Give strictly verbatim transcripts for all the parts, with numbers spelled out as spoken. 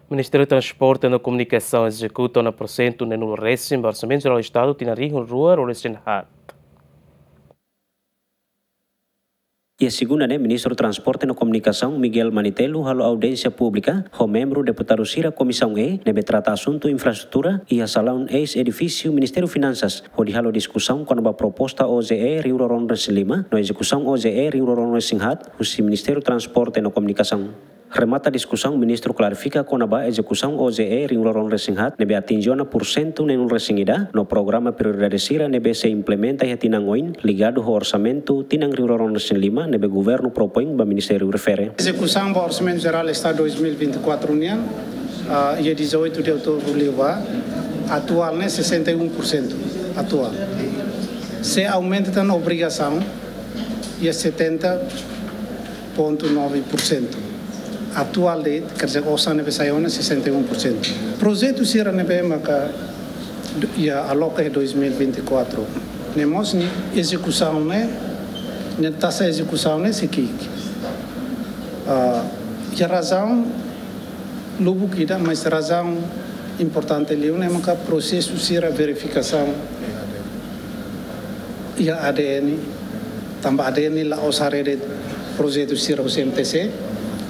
Ministériu Transporte no Komunikasaun ezekuta ona porsentu neenulu resin ba Orsamentu Jerál Estadu tinan rihun rua ruanulu resin haat. Iha segunda ne'e, Ministru Transporte no Komunikasaun, Miguel Manitelu, halo audiénsia públika ho membru deputadu sira Komisaun E ne'ebé trata asuntu infraestrutura iha salaun eis-edifísiu Ministériu Finansas, hodi halo diskusaun kona-ba proposta O J E rihun rua ruanulu resin lima no ezekusaun O J E rihun rua ruanulu resin haat husi Ministériu Transporte no Komunikasaun. Remata diskusaun, ministru klarifika kona-ba ezekusaun O J E rihun rua ruanulu resin haat ne'ebé atinje ona porsentu neenulu resin ida no programa prioridade sira ne'ebé sei implementa iha tinan oin ligadu ho orsamentu tinan rihun rua ruanulu resin lima ne'ebé governu propoin ba ministériu refere. Ezekusaun ba Orsamentu Jerál Estadu dois mil e vinte e quatro nian, ah, iha dezoito de outubro liubá, atuál ne'e sessenta e um por cento atuál. Se aumenta tan obrigasaun iha setenta ponto nove por cento. Atuál de'it, quer dizer, osan ne'ebé sai ona sessenta e um por cento. Projetu sira ne'ebé maka iha aloka iha dois mil e vinte e quatro ne'e mós nia ezekusaun ne'e, nia taxa ezekusaun ne'e sei ki'ik. Ah, iha razaun lubuk ida, mas razaun importante liu ne'e maka prosesu sira verifikasaun iha A D N, tanba A D N la'ós haree de'it projetu sira husi M T C,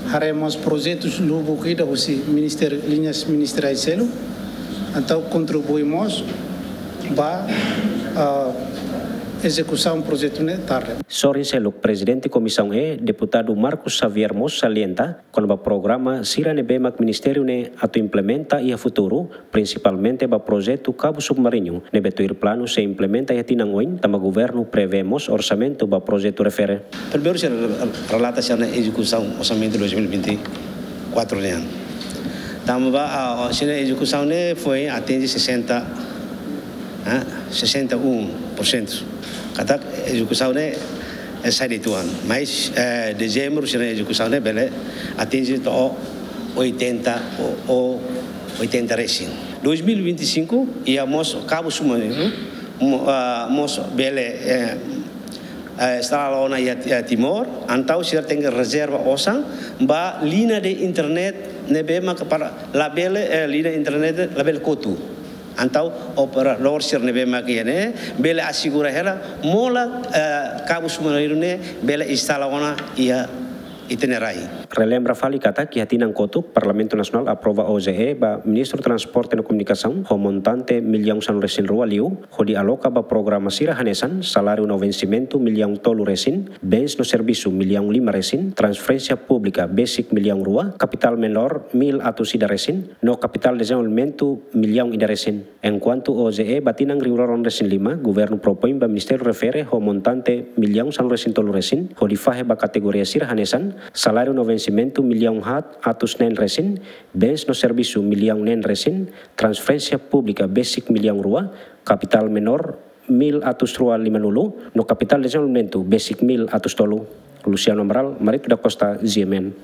haree mós projetu lubuk ida husi ministériu, liñas ministeriais seluk, entaun kontribui mós ba, ah, ezekusaun projetu ne'e tarde. Sorin seluk, Prezidente Komisaun E, Deputadu Marcos Xavier mós salienta kona-ba programa sira ne'ebé mak ministériu ne'e atu implementa iha futuru, prinsipalmente ba projetu kabu submarinu ne'ebé tuir planu sei implementa iha tinan oin, tanba governu prevee mós orsamentu ba projetu refere. Primeiru, sira relata sira-nia ezekusaun orsamentu dois mil e vinte e quatro nian. Tanba, ah, sira-nia ezekusaun ne'e foin atinje sessenta, ah, sessenta e um por cento. Katak ezekusaun ne'e, eh, sai de'it tuan. Mas, eh, dezembru sira-nia ezekusaun ne'e bele atinje to'o oitenta ou, ou oitenta resin. Dois mil e vinte e cinco, iha mós kabu submarinu, mo-, ah, mós bele, eh, eh, instala ona iha, iha Timor, entaun sira tenke rezerva osan ba liña de internet ne'ebé maka para labele, eh, liña internet labele kotu. Entaun operadór sira ne'ebé maka iha ne'e bele asegura hela mola, eh, kabu submarinu ne'e bele instala ona iha ita-nia rai. Relembra fali katak iha tinan kotuk Parlamentu Nasionál aprova O J E ba Ministru Transporte no Komunikasaun ho montante millaun sanulu resin rua liu, hodi aloka ba programa sira hanesan saláriu no vensimentu millaun tolu resin, bens no servisu millaun lima resin, transferénsia públika besik millaun rua, kapitál menór mil atus ida resin, no kapitál dezenvolvimentu millaun ida resin. Enkuantu O J E ba tinan rihun rua ruanulu resin lima, governu propoin ba ministériu refere ho montante millaun sanulu resin tolu resin, hodi fahe ba kategoria sira hanesan saláriu no vensimentu millaun haat atus neen resin, bens no servisu millaun neen resin, transferénsia públika besik millaun rua, kapitál menór mil atus rua limanulu, no kapitál dezenvolvimentu besik mil atus tolu. Luciano Amaral, Marito da Costa, G M N.